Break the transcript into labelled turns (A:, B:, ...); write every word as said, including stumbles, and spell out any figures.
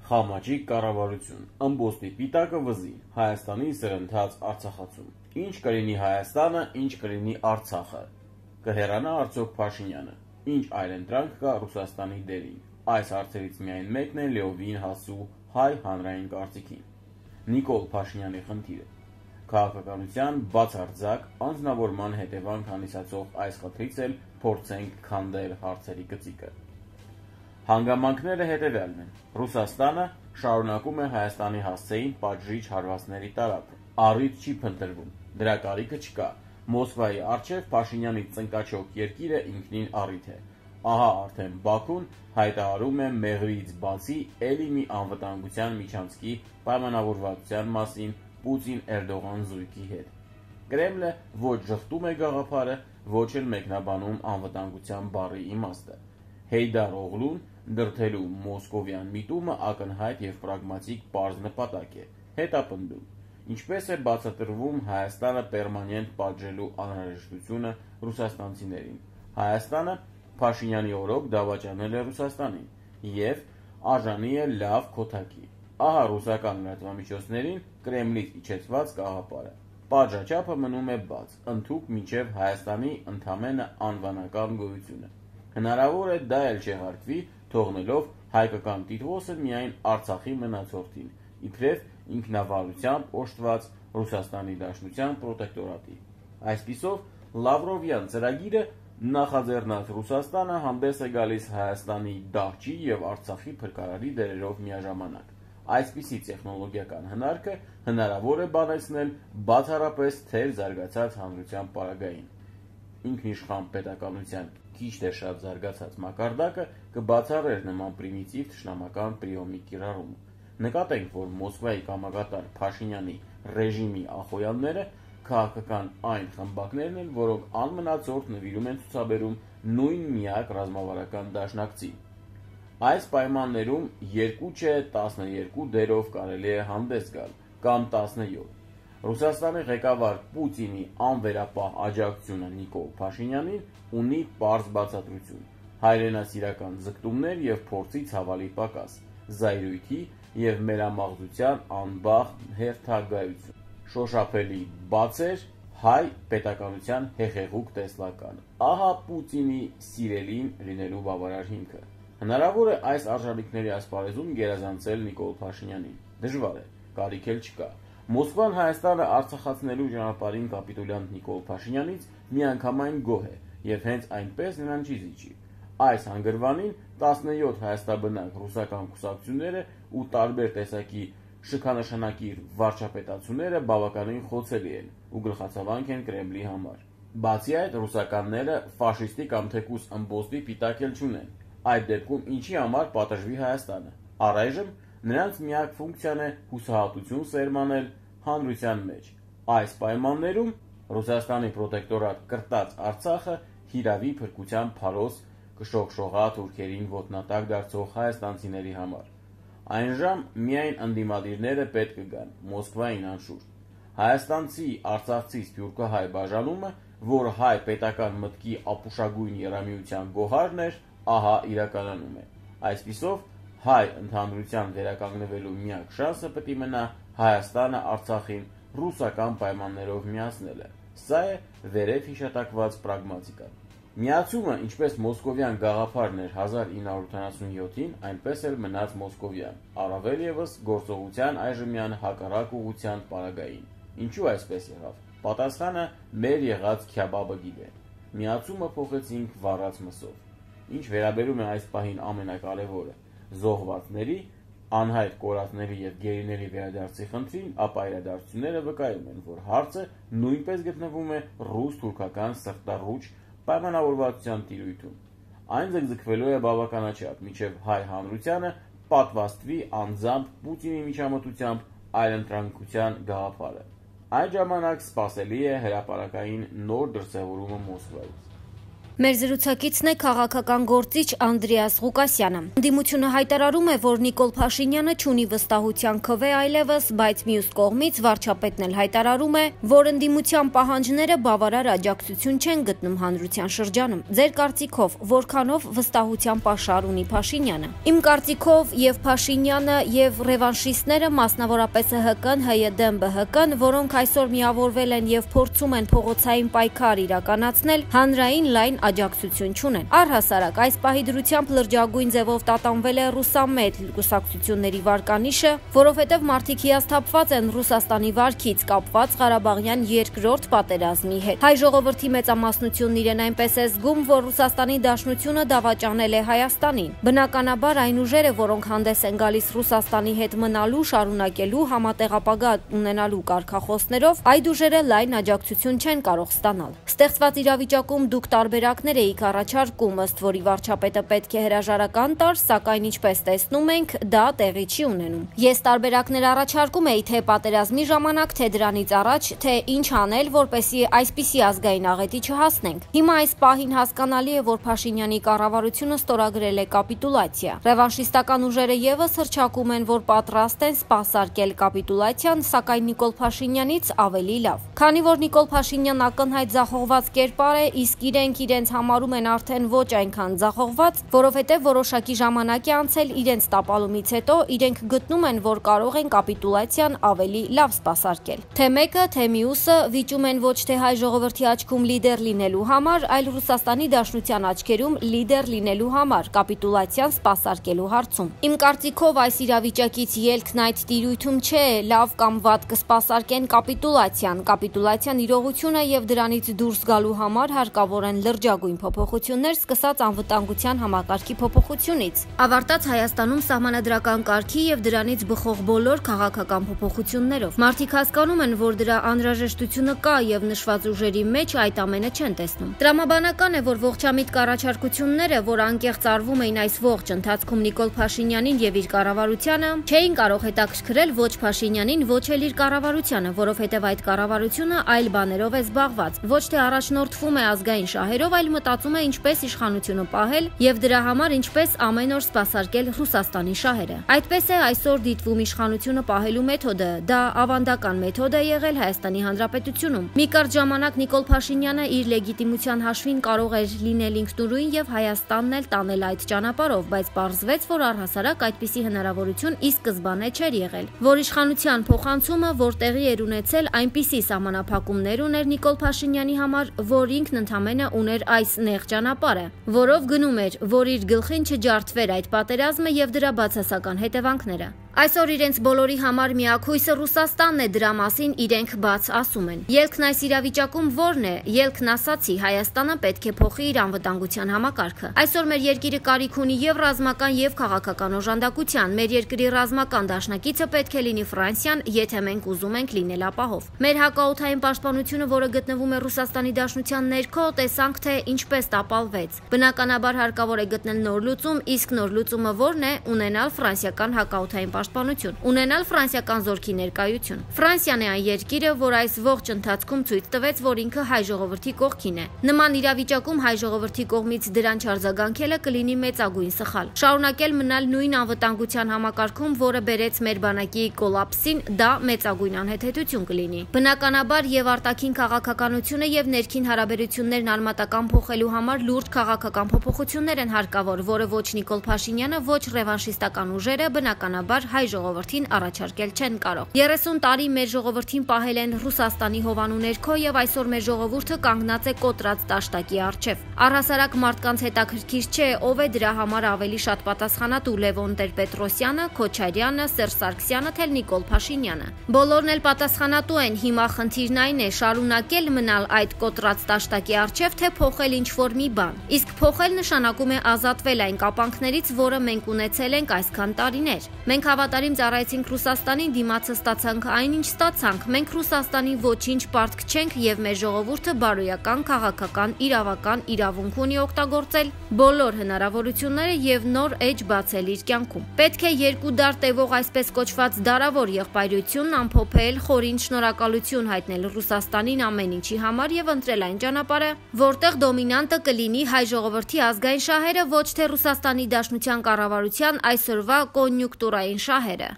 A: Խամաճիկ կառավարություն, ըմբոստի պիտակը վզին, Հայաստանի սրընթաց Արցախացում, ինչ կլինի Հայաստանը, ինչ կլինի Արցախը, կհեռանա արդյոք Փաշինյանը, ինչ այլընտրանք կա Ռուսաստանի դերին, այս հարցերից միայն մեկն է լիովին հասու հայ հանրային կարծիքին, Նիկոլ Փաշինյանի խնդիրը, քաղաքականության բացարձակ անձնավորման հետևանք հանդիսացող այս խնդրից էլ փորձենք քանդել հարցերի գծիկը։ Հանգամանքները հետևյալն են. Ռուսաստանը շարունակում է Հայաստանի հասցեին պատժիչ հարվածների տարափը, առիթ չի փնտրվում, դրա կարիքը չկա, Մոսկվայի առջև Փաշինյանի ծնկաչոք երկիրը ինքնին առիթ է, ահա արդեն Բաքուն հայտարարում է մեղրից բացի էլի մի անվտանգության միջանցքի պայմանավորվածության մասին Պուտին-Էրդողան զույգի հետ։ Կրեմլը ոչ ժխտում է գաղափարը, ոչ էլ մեկնաբանում անվտանգության բառի իմաստը։ Հեյդար Օղլուն դրդելու մոսկովյան միտումը ակնհայտ և պրագմատիկ պարզ նպատակ է, հետապնդում, ինչպես է բացատրվում Հայաստանը պերմանենտ պատժելու անհրաժեշտությունը ռուսաստանցիներին։ Հայաստանը Փաշինյանի օրոք դավաճանել է Ռուսաստանին և արժանի է լավ քոթակի։ Ահա ռուսական լրատվամիջոցներին Կրեմլից իջեցված գաղափարը։ Պատժաչափը մնում է բաց, ընդհուպ մինչև Հայաստանի ընդամենը անվանական գոյությունը։ Հնարավոր է դա էլ չեղարկվի, թողնելով հայկական տիտղոսը միայն Արցախի մնացորդին, իբրև ինքնավարությամբ օժտված Ռուսաստանի Դաշնության պրոտեկտորատի։ Այսպիսով Լավրովյան ծրագիրը նախաձեռնած Ռուսաստանը հանդես է գալիս Հայաստանի դահճի և Արցախի փրկարարի դերերով միաժամանակ։ Այսպիսի տեխնոլոգիական հնարքը հնարավոր է բանեցնել բացառապես թեր զարգացած հանրության պարագային։ Ինքնիշխան պետականության քիչ թե շատ զարգացած մակարդակը կբացառեր նման պրիմիտիվ թշնամական պրիոմի կիրառումը։ Նկատենք, որ Մոսկվայի կամակատար Փաշինյանի ռեժիմի ախոյանները քաղաքական այն խմբակներն են, որոնք անմնացորդ նվիրում են ցուցաբերում նույն միակ ռազմավարական դաշնակցին։ Այս պայմաններում երկու չէ տասներկու դերով կարելի է հանդես գալ, կամ տասնյոթ։ Ռուսաստանի ղեկավար Պուտինի անվերապահ աջակցությունը Նիկոլ Փաշինյանին ունի պարզ բացատրություն՝ հայրենասիրական ձգտումներ և փորձի ցավալի պակաս, զայրույթի և մերամաղձության անբախտ հերթագայություն, շոշափելի բացեր հայ պետականության հեղեղուկ տեսլականը։ Ահա Պուտինի սիրելին լինելու բավարար հիմքը։ Հնարավոր է այս արժանինքների ասպարեզում գերազանցել Նիկոլ Փաշինյանին։ Դժվար է, կարիք էլ չկա։ Մոսկվան Հայաստանը արձախացնելու ճանապարհին կապիտուլյանտ Նիկոլ Փաշինյանից միանգամայն գոհ է և հենց այնպես նրան չի զիջի։ Այս հանգրվանին տասնյոթ հայաստաբնակ ռուսական կուսակցությունները ու տարբեր տեսակի շքանշանակիր վարչապետացուները բավականին խոցելի են ու գլխացավանք են Կրեմլի համար։ Բացի այդ, ռուսականները ֆաշիստի կամ թեկուզ ըմբոստի պիտակ էլ չունեն։ Այդ դեպքում ինչի համար պատժվի Հայաստանը։ Առայժմ նրանց միակ ֆունկցիան է հուսահատություն սերմանել հանրության մեջ։ Այս պայմաններում Ռուսաստանի պրոտեկտորատ կրտած Արցախը հիրավի փրկության փարոս կշողշողա թուրքերին ոտնատակ դարձող հայաստանցիների համար։ Այն ժամ միայն ընդդիմադիրները պետք կգան Մոսկվային անշուշտ։ Հայաստանցի արցախցի սփյուռքահայ բաժանումը, որ հայ պետական մտքի ապուշագույն եռամիության գոհարն էր, ահա իրականանում է։ Այսպիսով հայ ընդհանրության վերականգնվելու միակ շանսը պետք է մնա Հայաստանը Արցախին ռուսական պայմաններով միացնելը։ Սա է վերև հիշատակված պրագմատիկան։ Միացումը, ինչպես մոսկովյան գաղափարն էր հազար ինը հարյուր ութանասունյոթին, այնպես էլ մնաց մոսկովյան, առավել ևս գործողության այժմյան հակառակ ուղղության պարագային։ Ինչու այսպես եղավ։ Պատասխանը մեր եղած քյաբաբը գիտե։ Միացումը փոխեցինք վառած մսով։ Ինչ վերաբերում է այս պահին ամենակարևորը՝ զոհվածների, անհայտ կորածների և գերիների վերադարձի խնդրին, ապա իրադարձությունները վկայում են, որ հարցը նույնպես գտնվում է ռուս-թուրքական սրտառուչ պայմանավորվածության տիրույթում։ Այն ձգձգվելու է բավականաչափ, մինչև հայ հանրությանը պատվաստվի անձամբ Պուտինի միջամտությամբ այլընտրանքության գաղափարը։ Այդ ժամանակ սպասելի է հրապարակային նոր դրսևորումը Մոսկվայից։
B: Մեր զրուցակիցն է քաղաքական գործիչ Անդրեաս Ղուկասյանը։ Ընդդիմությունը հայտարարում է, որ Նիկոլ Փաշինյանը չունի վստահության քվե այլևս, բայց մյուս կողմից վարչապետն էլ հայտարարում է, որ ընդդիմության պահանջները բավարար աջակցություն չեն գտնում հանրության շրջանում։ Ձեր կարծիքով որքանով վստահության պաշար ունի Փաշինյանը։ Իմ կարծիքով եւ Փաշինյանը եւ ռևանշիստները, մասնավորապես ՀՀԿ-ն, ՀՅԴ-ն, ԲՀԿ-ն, որոնք այսօր միավորվել են եւ փորձում են փողոցային պայքար իրականացնել, հանրային լայն աջակցություն չունեն։ Առհասարակ այս պահի դրությամբ լրջագույն ձևով տատանվել է ռուսամետ կուսակցությունների վարկանիշը, որովհետև մարդիկ հիասթափված են Ռուսաստանի վարքից կապված Ղարաբաղյան երկրորդ պատերազմի հետ։ Հայ ժողովրդի մեծամասնությունն իրեն այնպես է զգում, որ Ռուսաստանի Դաշնությունը դավաճանել է Հայաստանին։ Բնականաբար այն ուժերը, որոնք հանդես են գալիս Ռուսաստանի հետ մնալու, շարունակելու, համատեղ ապագա ունենալու կարգախոսներով, այդ ուժերը լայն աջակցություն չեն կարող ստանալ։ Ստեղծված իրավիճակում դուք տարբերակներ էիք առաջարկում, ըստ որի վարչապետը պետք է հրաժարական տար, սակայն ինչպես տեսնում ենք, դա տեղի չի ունենում։ Ես տարբերակներ առաջարկում էի թե պատերազմի ժամանակ, թե դրանից առաջ, թե ինչ անել, որպեսզի այսպիսի ազգային աղետի չհասնենք։ Հիմա այս պահին հասկանալի է, որ Փաշինյանի կառավարությունը ստորագրել է կապիտուլյացիա։ Ռևանշիստական ուժերը եւս հռչակում են, որ պատրաստ են սպասարկել կապիտուլյացիան, սակայն Նիկոլ Փաշինյանից ավելի լավ։ Քանի որ Նիկոլ Փաշինյանն ակնհայտ ձախողված կերպար է, իսկ իրենք իրենց համարում են արդեն ոչ այնքան ձախողված, որովհետև որոշակի ժամանակ է անցել իրենց տապալումից հետո, իրենք գտնում են, որ կարող են կապիտուլյացիան ավելի լավ սպասարկել։ Թե մեկը, թե մյուսը վիճում են ոչ թե հայ ժողովրդի աչքում լիդեր լինելու համար, այլ Ռուսաստանի Դաշնության աչքերում լիդեր լինելու համար կապիտուլյացիան սպասարկելու հարցում։ Իմ կարծիքով այս իրավիճակից ելքն այդ տիրույթում չէ, լավ կամ վատ կսպասարկեն կապիտուլյացիան։ Կապիտուլյացիան իրողություն է եւ դրանից դուրս գալու համար հարկավոր են լրջագույն փոփոխություններ, սկսած անվտանգության համակարգի փոփոխությունից, ավարտած Հայաստանում սահմանադրական կարգի եւ դրանից բխող բոլոր քաղաքական փոփոխություններով։ Մարդիկ հասկանում են, որ դրա անհրաժեշտությունը կա եւ նշված ուժերի մեջ այդ ամենը չեն տեսնում։ Տրամաբանական է, որ ողջամիտ կառաջարկությունները, որ անկեղծ արվում էին այս ողջ ընթացքում Նիկոլ Փաշինյանին եւ իր կառավարությանը, չէին կարող հետաքրքրել ոչ Փաշինյանին, ոչ էլ իր կառավարությանը, որովհետեւ այդ կառավարությունը այլ բաներով է զբաղված։ Ոչ թե առաջնորդվում է ազգային շահերով, այլ մտածում է ինչպես իշխանությունը պահել եւ դրա համար ինչպես ամեն օր սպասարկել Ռուսաստանի շահերը։ Այդպես է այսօր դիտվում իշխանությունը պահելու մեթոդը։ Դա ավանդական մեթոդ է եղել Հայաստանի Հանրապետությունում։ Մի կարճ ժամանակ Նիկոլ Փաշինյանը իր լեգիտիմության հաշվին կարող էր լինել ինքնուրույն եւ Հայաստանն էլ տանել այդ ճանապարհով, բայց պարզվեց, որ առհասարակ այդպիսի հնարավորություն ի սկզբանե չէր եղել, որ իշխանության փոխանցումը, որ տեղի էր ունեցել, այնպիսի սահմանափակումներ ուներ Նիկոլ Փաշինյանի համար, որ ինքն ընդամենը ուներ այս նեղ ճանապարհը, որով գնում էր, որ իր գլխին չջարդվեր այդ պատերազմը եւ դրա բացասական հետևանքները։ Այսօր իրենց բոլորի համար միակույսը Ռուսաստանն է, դրա մասին իրենք բաց ասում են։ Ելքն այս իրավիճակում ո՞րն է։ Ելքն ասացի, Հայաստանը պետք է փոխի իր անվտանգության համակարգը։ Այսօր մեր երկիրը կարիք ունի եւ ռազմական եւ քաղաքական օժանդակության։ Մեր երկրի ռազմական դաշնակիցը պետք է լինի Ֆրանսիան, եթե մենք ուզում ենք լինել ապահով։ Մեր հակաօդային պաշտպանությունը, որը գտնվում է Ռուսաստանի Դաշնության ներքո, տեսանք թե ինչպես տապալվեց։ Բնականաբար հարկավոր է գտնել նոր լուծում, իսկ նոր լուծումը ո՞րն է՝ ունենալ ֆրանսիական հակաօդային պաշտպանություն, ունենալ ֆրանսիական զորքի ներկայություն։ Ֆրանսիան է այն երկիրը, որ այս ողջ ընթացքում ցույց տվեց, որ ինքը հայ ժողովրդի կողքին է։ Նման իրավիճակում հայ ժողովրդի կողմից դրան չարձագանքելը կլինի մեծագույն սխալ։ Շարունակել մնալ նույն անվտանգության համակարգում, որը բերեց մեր բանակի կոլապսին, դա մեծագույն անհեթեթություն կլինի։ Բնականաբար եւ արտաքին քաղաքականությունը եւ ներքին հարաբերություններն արմատական փոխելու համար լուրջ քաղաքական փոփոխություններ են հարկավոր, որը ոչ Նիկոլ Փաշինյանը, ոչ ռևանշիստական ուժերը բնականաբար հայ ժողովրդին առաջարկել չեն կարող։ երեսուն տարի մեր ժողովրդին պահել են Ռուսաստանի հովանու ներքո եւ այսօր մեր ժողովուրդը կանգնած է կոտրած դաշտակի առջև։ Առհասարակ մարդկանց հետաքրքիր չէ ով է դրա համար ավելի շատ պատասխանատու՝ Լևոն Տեր-Պետրոսյանը, Քոչարյանը, Սերժ Սարգսյանը, թե Նիկոլ Փաշինյանը։ Բոլորն էլ պատասխանատու են։ Հիմա խնդիրն այն է՝ շարունակել մնալ այդ կոտրած դաշտակի առջև, թե փոխել ինչ-որ մի բան։ Իսկ փոխել նշանակում է ազատվել այն կապանքներից, որը մենք ունեցել ենք այսքան տարիներ։ Մենք հավատարիմ ծառայեցինք Ռուսաստանին, դիմացը ստացանք այն, ինչ ստացանք։ Մենք Ռուսաստանին ոչինչ պարտք չենք եւ մեր ժողովուրդը բարոյական, քաղաքական, իրավական իրավունք ունի օգտագործել բոլոր հնարավորությունները եւ նոր էջ բացել իր կյանքում։ Պետք է երկու դար տևող այսպես կոչված դարավոր եղբայրությունն ամփոփել, խորին շնորհակալություն հայտնել Ռուսաստանին ամեն ինչի համար եւ ընտրել այն ճանապարհը, որտեղ դոմինանտը կլինի հայ ժողովրդի ազգային շահերը, ոչ թե Ռուսաստանի Դաշնության կառավարության այսօրվա կոնյուկտուրային շահերը։